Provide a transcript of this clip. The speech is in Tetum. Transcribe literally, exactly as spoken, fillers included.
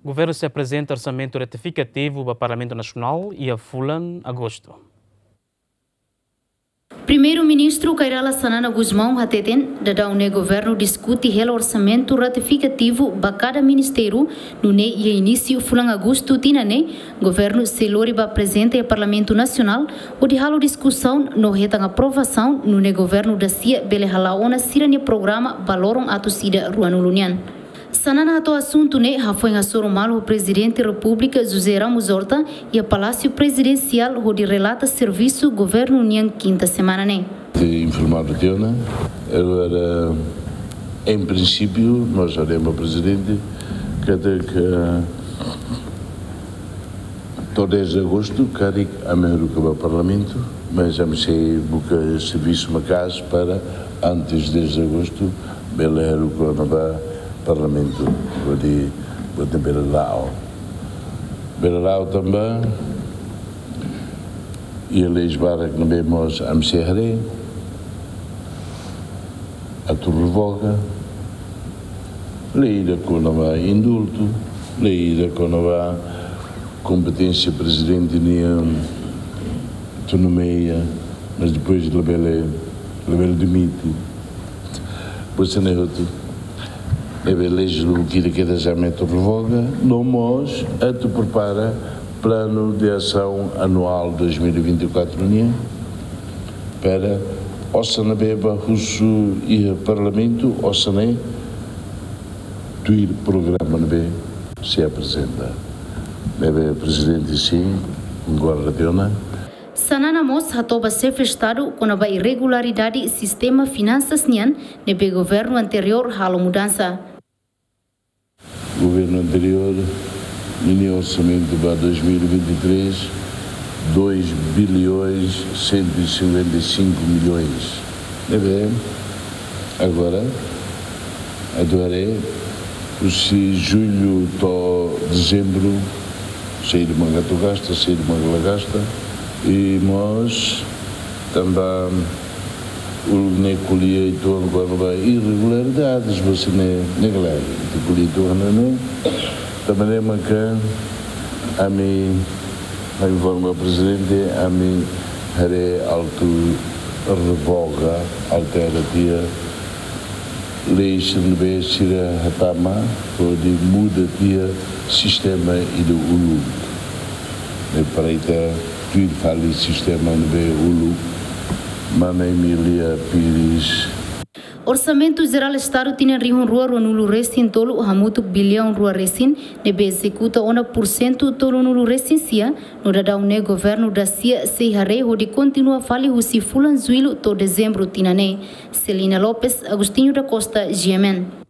Governu sei aprezenta orsamentu retifikativu ba Parlamentu Nasionál iha fulan Agostu. Primeiru-Ministru Kay Rala Xanana Gusmão hateten, daudaun ne'e governu diskute hela orsamentu retifikativu ba kada ministériu, nune'e iha inísiu fulan Agostu tinan ne'e, governu sei lori ba aprezenta iha Parlamentu Nasionál, hodi halo diskusaun no hetan aprovasaun, nune'e governu dasia bele hala'o ona sira-nia programa ba loron atus ida ruanulu nian. Xanana hato'o asuntu ne'e hafoin hasoru malu ho Prezidente Repúblika José Ramos Horta iha Palásiu Prezidensiál hodi relata servisu governu nian kinta semana ne'e. Te informadu tiha ona, agora, em princípio, nós haremos, Prezidente, katak to'o dez de agostu karik ami haruka ba Parlamentu, mas ami sei buka servisu maka'as para antes dez de agostu bele haruka ona ba Parlamentu, hodi, hodi bele la'o. Bele la'o tanba iha leis barak ne'ebé mós ami sei haree atu revoga, lei ida kona-ba indultu, lei ida kona-ba kompeténsia Prezidente nian atu nomeia, mas depois labele, labele demite. Buat sira-ne'e hotu, ne'ebé leis lubuk ida kedas ami atu revoga, no mós atu prepara plano de ação anual dois mil e vinte e quatro nian, para osan ne'ebé bá husu iha Parlamentu, osan ne'e tuir programa ne'ebé sei aprezenta. Ne'ebé Prezidente, sin, konkorda tiha ona. Xanana mós hato'o ba Xefe Estadu kona-ba irregularidade sistema finansas nian ne'ebé governu anteriór halo mudansa. Governu anteriór, ninia orsamentu ba dois mil e vinte e três, dois bilhões cento e cinquenta e cinco milhões. Ne'ebé agora, atu haree, husi jullu to'o dezembru, saida mak atu gasta, saida mak la gasta, i mós tanba uluk ne'e ko'alia uitoan kona-ba irregularidades, buat sira-ne'e, ne'e klaru, ita ko'alia uitoan ne'e. Tanba ne'e maka ami, ami informa Prezidente, ami haree atu revoga, altera tiha leis ne'ebé sira hatama, hodi muda tiha sistema ida uluk. Ne'e para ita tuir fali sistema ne'ebé uluk, Mana Emília Pires. Orsamentu Jerál Estadu tinan rihun rua ruanulu resin tolu hamutuk biliaun rua resin, ne'ebé ezekuta ona pursentu tolunulu resin sia, no daudaun ne'e governu dasia sei haree hodi kontinua fali husi fulan Jullu to'o Dezembru tinan ne'e. Celina Lopes, Agostinho da Costa, G M N.